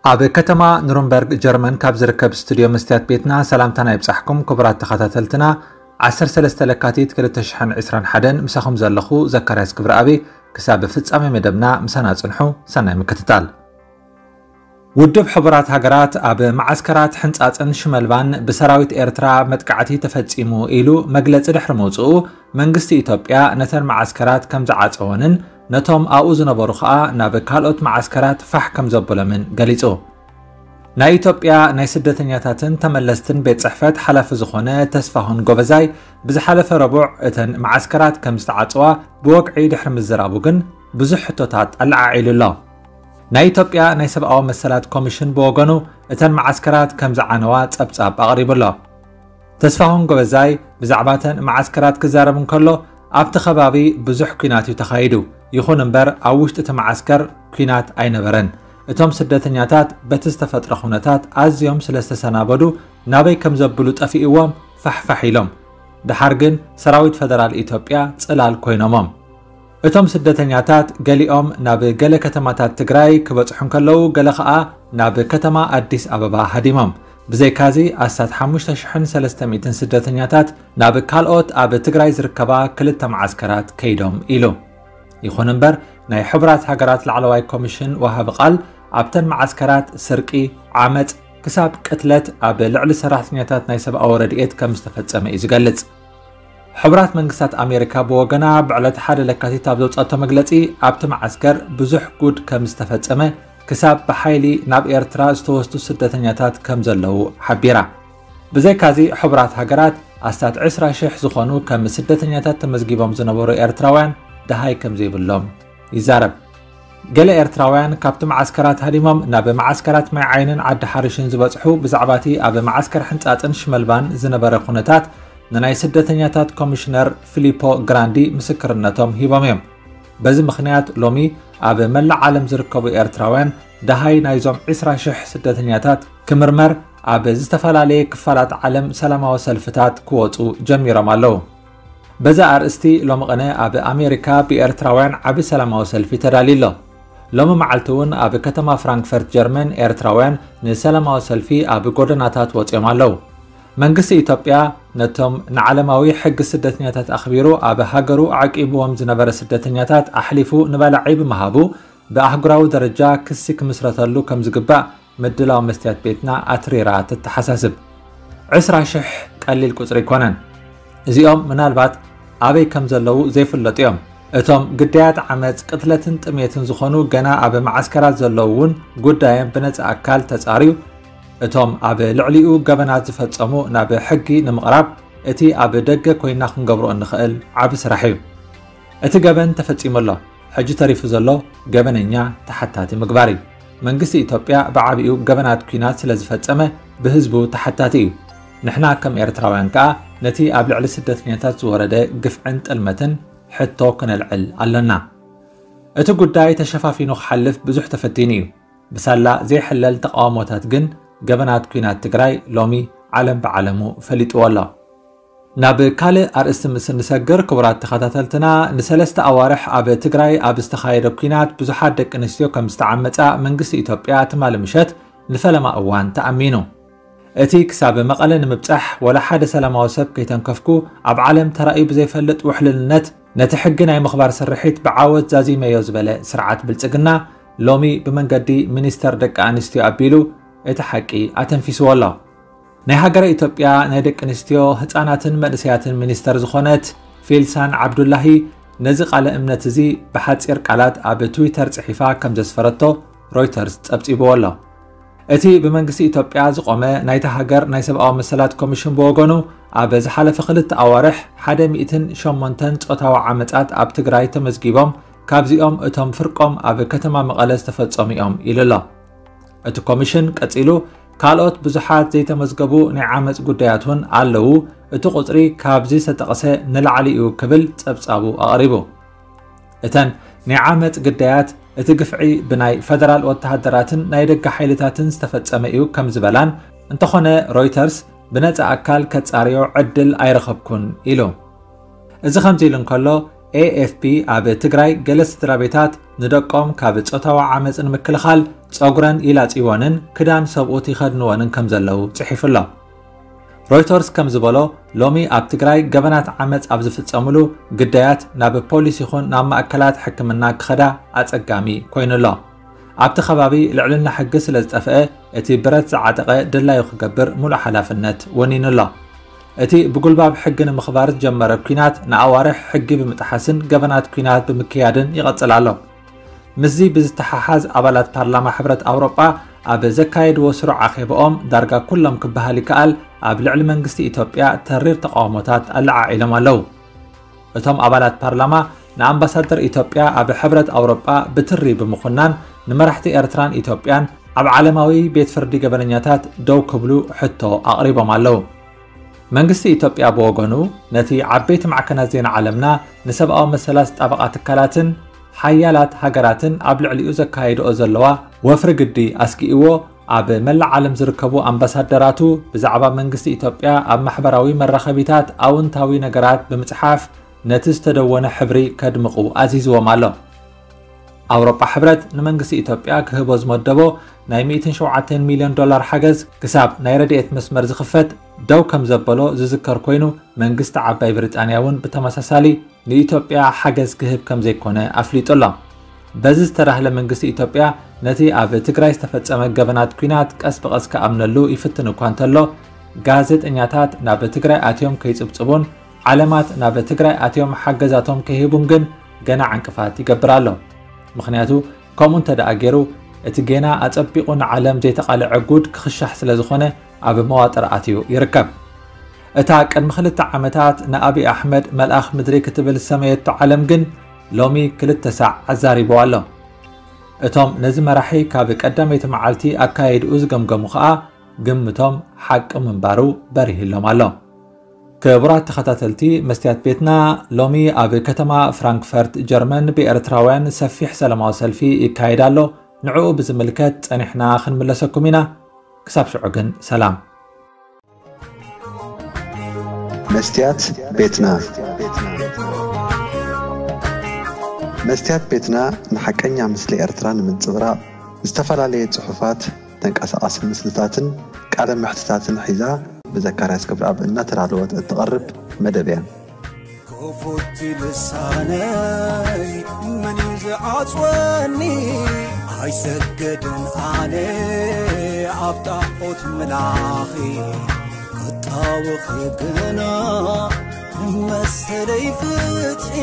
ኣብ ከተማ ኑርንበርግ ጀርመን ካብ ዝርከብ ስቱድዮ መስትያት ቤትና ሰላምታና ይብጻሕኩም ክቡራት ተኸታተልትና። ዓሰርተ ሰለስተ ለካቲት ክልተ ሽሕን ዕስራን ሓደን ምሳኹም ዘለኹ ዘካርያስ ክብረኣብ። ክሳብ ፍጻሜ መደብና ምሳና ጽንሑ። ሰናይ ምክትታል። ውድብ ሕቡራት ሃገራት ኣብ መዓስከራት ሕንጻጽን ሽመልባን ብሰራዊት ኤርትራ መጥቃዕቲ ተፈጺሙ ኢሉ መግለጺ ድሕሪ ምውጽኡ፣ መንግስቲ ኢትዮጵያ ነተን መዓስከራት ከም ዝዓጸወንን ነቶም ኣብኡ ዝነበሩ ከኣ ናብ ካልኦት መዓስከራት ፋሕ ከም ዘበሎምን ገሊጹ። ናይ ኢትዮጵያ ናይ ስደተኛታትን ተመለስትን ቤት ጽሕፈት ሓላፊ ዝኾነ ተስፋሁን ጎበዛይ ብዝሓለፈ ረቡዕ እተን መዓስከራት ከም ዝተዓጽዋ ብወግዒ ድሕሪ ምዝራቡ ግን ብዙሕ ሕቶታት ኣለዓዒሉ ኣሎ። ናይ ኢትዮጵያ ናይ ሰብኣዊ መሰላት ኮሚሽን ብወገኑ እተን መዓስከራት ከም ዝዓነዋ ጸብጻብ ኣቕሪቡ ኣሎ። ተስፋሁን ጎበዛይ ብዛዕባ እተን መዓስከራት ክዛረብ እንከሎ፣ ኣብቲ ከባቢ ብዙሕ ኲናት እዩ ተኻይዱ። ይኹን እምበር ኣብ ውሽጢ እቲ መዓስከር ኲናት ኣይነበረን። እቶም ስደተኛታት በቲ ዝተፈጥረ ኩነታት ኣዝዮም ስለ ዝተሰናበዱ ናበይ ከም ዘብሉ ጠፊእዎም ፋሕፋሕ ኢሎም። ደሓር ግን ሰራዊት ፈደራል ኢትዮጵያ ጽላል ኮይኖሞም። እቶም ስደተኛታት ገሊኦም ናብ ገለ ከተማታት ትግራይ ክበጽሑ እንከለዉ፣ ገለ ኸኣ ናብ ከተማ ኣዲስ ኣበባ ሃዲሞም። ብዘይካዚ ኣስታት ሓሙሽተ ሽሕን ሰለስተ ሚእትን ስደተኛታት ናብ ካልኦት ኣብ ትግራይ ዝርከባ ክልተ መዓስከራት ከይዶም ኢሉ። ይኹን እምበር ናይ ሕቡራት ሃገራት ላዕለዋይ ኮሚሽን ወሃቢ ቃል ኣብተን መዓስከራት ስርቂ፣ ዓመጽ፣ ክሳብ ቅትለት ኣብ ልዕሊ ሰራሕተኛታት ናይ ሰብኣዊ ረድኤት ከም ዝተፈጸመ እዩ ዝገልጽ። ሕቡራት መንግስታት ኣሜሪካ ብወገና ብዕለት ሓደ ለካቲት ኣብ ዘውጻቶ መግለጺ፣ ኣብቲ መዓስከር ብዙሕ ጉድ ከም ዝተፈጸመ፣ ክሳብ ብሓይሊ ናብ ኤርትራ ዝተወስዱ ስደተኛታት ከም ዘለዉ ሓቢራ። ብዘይካዚ ሕቡራት ሃገራት ኣስታት ዕስራ ሽሕ ዝኾኑ ከም ስደተኛታት ተመዝጊቦም ዝነበሩ ኤርትራውያን ደሃይ ከም ዘይብሎም ይዛረብ። ገለ ኤርትራውያን ካብቲ መዓስከራት ሃዲሞም ናብ መዓስከራት ማይ ዓይንን ዓዲ ሓርሽን ዝበጽሑ ብዛዕባቲ ኣብ መዓስከር ሕንጻጽን ሽመልባን ዝነበረ ኩነታት ንናይ ስደተኛታት ኮሚሽነር ፊሊፖ ግራንዲ ምስክርነቶም ሂቦም እዮም። በዚ ምኽንያት ሎሚ ኣብ መላእ ዓለም ዝርከቡ ኤርትራውያን ደሃይ ናይዞም ዕስራ ሽሕ ስደተኛታት ክምርመር ኣብ ዝተፈላለየ ክፋላት ዓለም ሰላማዊ ሰልፍታት ክወጹ ጀሚሮም ኣለዉ። በዚ ኣርእስቲ ሎሚ ቅነ ኣብ ኣሜሪካ ብኤርትራውያን ዓቢ ሰላማዊ ሰልፊ ተዳልዩ ኣሎ። ሎሚ መዓልቲ እውን ኣብ ከተማ ፍራንክፈርት ጀርመን ኤርትራውያን ንሰላማዊ ሰልፊ ኣብ ጎደናታት ወጺኦም ኣለዉ። መንግስቲ ኢትዮጵያ ነቶም ንዓለማዊ ሕጊ ስደተኛታት ኣኽቢሩ ኣብ ሃገሩ ኣዕቂብዎም ዝነበረ ስደተኛታት ኣሕሊፉ ንበላዒ ብምሃቡ ብኣህጉራዊ ደረጃ ክሲ ክምስረተሉ ከም ዝግባእ ምድላው መስትያት ቤትና ኣትሪራ ትተሓሳስብ። ዕስራ ሽሕ ቀሊል ቁጽሪ ኣይኮነን። እዚኦም ምናልባት ኣበይ ከም ዘለዉ ዘይፍለጡ እዮም። እቶም ግዳያት ዓመጽ፣ ቅትለትን ጥሜትን ዝኾኑ ገና ኣብ መዓስከራት ዘለዉ እውን ጉዳዮም ብነጻ ኣካል ተጻርዩ፣ እቶም ኣብ ልዕሊኡ ገበናት ዝፈጸሙ ናብ ሕጊ ንምቕራብ እቲ ኣብ ደገ ኮይና ክንገብሮ እንኽእል ዓቢ ስራሕ እዩ። እቲ ገበን ተፈጺሙ ኣሎ። ሕጂ ተሪፉ ዘሎ ገበነኛ ተሓታቲ ምግባር እዩ። መንግስቲ ኢትዮጵያ ብዓቢኡ ገበናት ኲናት ስለ ዝፈጸመ ብህዝቡ ተሓታቲ እዩ። ንሕና ከም ኤርትራውያን ከኣ ነቲ ኣብ ልዕሊ ስደተኛታት ዝወረደ ግፍዕን ጥልመትን ሕቶ ክነልዕል ኣሎና። እቲ ጉዳይ ተሸፋፊኑ ክሓልፍ ብዙሕ ተፈቲኑ እዩ። ብሳላ ዘይሕለል ተቓውሞታት ግን ገበናት ኲናት ትግራይ ሎሚ ዓለም ብዓለሙ ፈሊጥዎ ኣሎ። ናብ ካልእ ኣርእስቲ ምስ እንሰግር፣ ክቡራት ተኸታተልትና፣ ንሰለስተ ኣዋርሕ ኣብ ትግራይ ኣብ ዝተኻየደ ኲናት ብዙሓት ደቂ ኣንስትዮ ከም ዝተዓመጻ መንግስቲ ኢትዮጵያ ትማሊ ምሸት ንፈለማ እዋን ተኣሚኑ። እቲ ክሳብ መቐለ ንምብጻሕ ወላ ሓደ ሰላማዊ ሰብ ከይተንከፍኩ ኣብ ዓለም ተራእዩ ብዘይፈልጥ ውሕልልነት ነቲ ሕጊ ናይ ምኽባር ስርሒት ብዓወት ዛዚመዮ ዝበለ ስርዓት ብልጽግና ሎሚ ብመንገዲ ሚኒስተር ደቂ ኣንስትዮ ኣቢሉ እቲ ሓቂ ኣተንፊስዎ ኣሎ። ናይ ሃገረ ኢትዮጵያ ናይ ደቂ ኣንስትዮ፣ ህጻናትን መንእሰያትን ሚኒስተር ዝኾነት ፊልሳን ዓብዱላሂ ነዚ ቃለ እምነት እዚ ብሓጺር ቃላት ኣብ ትዊተር ጽሒፋ ከም ዘስፈረቶ ሮይተርስ ጸብጺብዎ ኣሎ። እቲ ብመንግስቲ ኢትዮጵያ ዝቖመ ናይታ ሃገር ናይ ሰብኣዊ መሰላት ኮሚሽን ብወገኑ፣ ኣብ ዝሓለፈ ክልተ ኣዋርሕ ሓደ ሚእትን ሸሞንተን ጾታዊ ዓመጻት ኣብ ትግራይ ተመዝጊቦም፣ ካብዚኦም እቶም ፍርቆም ኣብ ከተማ መቐለ ዝተፈጸሙ እዮም ኢሉ ኣሎ። እቲ ኮሚሽን ቀጺሉ፣ ካልኦት ብዙሓት ዘይተመዝገቡ ናይ ዓመጽ ጉዳያት እውን ኣለዉ፣ እቲ ቁጽሪ ካብዚ ዝተጠቕሰ ንላዕሊ እዩ ክብል ጸብጻቡ ኣቕሪቡ። እተን ናይ ዓመጽ ግዳያት፣ እቲ ግፍዒ ብናይ ፈደራል ወተሃደራትን ናይ ደገ ሓይልታትን ዝተፈጸመ እዩ ከም ዝበላን፣ እንተኾነ ሮይተርስ ብነጻ ኣካል ከጻርዮ ዕድል ኣይረኸብኩን ኢሉ። እዚ ከምዚ ኢሉ እንከሎ፣ ኤ ኤፍ ፒ ኣብ ትግራይ ገለ ስድራ ቤታት ንደቆም ካብ ጾታዊ ዓመጽ ንምክልኻል ጸጉረን ይላጽይወንን ክዳን ሰብኡት ይኸድንወንን ከም ዘለዉ ጽሒፉ ኣሎ። ሮይተርስ ከም ዝበሎ፣ ሎሚ ኣብ ትግራይ ገበናት ዓመጽ ኣብ ዝፍጸምሉ ግዳያት ናብ ፖሊስ ይኹን ናብ ማእከላት ሕክምና ክኸዳ ኣጸጋሚ ኮይኑ ኣሎ። ኣብቲ ከባቢ ልዕልና ሕጊ ስለ ዝጠፍአ፣ እቲ ብረት ዝዓጠቐ ድላዩ ክገብር ሙሉእ ሓላፍነት ወኒኑ ኣሎ። እቲ ብጉልባብ ሕጊ ንምኽባር ዝጀመረ ኲናት ንኣዋርሕ ሕጊ ብምጥሓስን ገበናት ኲናት ብምክያድን ይቐጽል ኣሎ። ምስዚ ብዝተሓሓዝ፣ ኣባላት ፓርላማ ሕብረት ኣውሮጳ ኣብ ዘካየድዎ ስሩዕ ኣኼባኦም፣ ዳርጋ ኩሎም ክበሃል ይከኣል፣ ኣብ ልዕሊ መንግስቲ ኢትዮጵያ ተሪር ተቃውሞታት ኣለዓዒሎም ኣለዉ። እቶም ኣባላት ፓርላማ ንኣምባሳደር ኢትዮጵያ ኣብ ሕብረት ኣውሮጳ ብትሪ ብምኹናን፣ ንመራሕቲ ኤርትራን ኢትዮጵያን ኣብ ዓለማዊ ቤት ፍርዲ ገበነኛታት ደው ክብሉ ሕቶ ኣቕሪቦም ኣለዉ። መንግስቲ ኢትዮጵያ ብወገኑ፣ ነቲ ዓበይቲ ማዕከናት ዜና ዓለምና፣ ንሰብኣዊ መሰላት ዝጣበቓ ትካላትን ሓያላት ሃገራትን ኣብ ልዕሊኡ ዘካየድኦ ዘለዋ ወፍሪ ግዲ ኣስጊእዎ፣ ኣብ መላእ ዓለም ዝርከቡ ኣምባሳደራቱ ብዛዕባ መንግስቲ ኢትዮጵያ ኣብ ማሕበራዊ መራኸቢታት ኣውንታዊ ነገራት ብምጽሓፍ፣ ነቲ ዝተደወነ ሕብሪ ከድምቑ ኣዚዝዎም ኣሎ። ኣውሮጳ ሕብረት ንመንግስቲ ኢትዮጵያ ክህቦ ዝመደቦ ናይ ሚእትን ሸውዓተን ሚልዮን ዶላር ሓገዝ፣ ክሳብ ናይ ረድኤት መስመር ዝኽፈት ደው ከም ዘበሎ ዝዝከር ኮይኑ፣ መንግስቲ ዓባይ ብሪጣንያ እውን ብተመሳሳሊ ንኢትዮጵያ ሓገዝ ክህብ ከም ዘይኮነ ኣፍሊጡ ኣሎ። በዚ ዝተዳህለ መንግስቲ ኢትዮጵያ ነቲ ኣብ ትግራይ ዝተፈጸመ ገበናት ኲናት ቀስ ብቐስ ክኣምነሉ ይፍትን እኳ እንተሎ፣ ጋዜጠኛታት ናብ ትግራይ ኣትዮም ከይጽብጽቡን ዓለማት ናብ ትግራይ ኣትዮም ሓገዛቶም ከይህቡን ግን ገና ዕንቅፋት ይገብር ኣሎ። ምኽንያቱ፣ ከምኡ እንተ ደኣ ገይሩ፣ እቲ ጌና ኣጸቢቑ ንዓለም ዘይተቓልዐ ጉድ ክኽሻሕ ስለ ዝኾነ፣ ኣብ መዋጥር ኣትዩ ይርከብ። እታ ቅድሚ ክልተ ዓመታት ንኣብይ ኣሕመድ መልኣኽ ምድሪ ክትብል ዝሰመየቶ ዓለም ግን፣ ሎሚ ክልተ ሳዕ ኣዛሪብዋ ኣሎ። እቶም ነዚ መራሒ ካብ ቀዳመይቲ መዓልቲ ኣካይድኡ ዝገምገሙ ኸኣ፣ ግምቶም ሓቂ ምንባሩ በሪህሎም ኣሎ። ክቡራት ተኸታተልቲ መስትያት ቤትና፣ ሎሚ ኣብ ከተማ ፍራንክፈርት ጀርመን ብኤርትራውያን ሰፊሕ ሰላማዊ ሰልፊ ይካየድ ኣሎ። ንዕኡ ብዝምልከት ጸኒሕና ክንምለሰኩም ኢና። ክሳብ ሽዑ ግን ሰላም። መስትያት ቤትና። መስትያት ቤትና ንሓቀኛ ምስሊ ኤርትራ ንምንጽብራቕ፣ ዝተፈላለየ ጽሑፋት፣ ተንቀሳቓሲ ምስልታትን ቃለ መሕትታትን ሒዛ፣ ብዘካርያስ ክብረኣብ እናተዳለወት እትቐርብ መደብ እያ። ክፉት ልሳነይ፣ መን እዩ ዝዓጽወኒ? ኣይሰግድን ኣነ ኣብ ጣዖት ምላኺ፣ ክጣወኺ ግና ንመሰለይ ፍትሒ።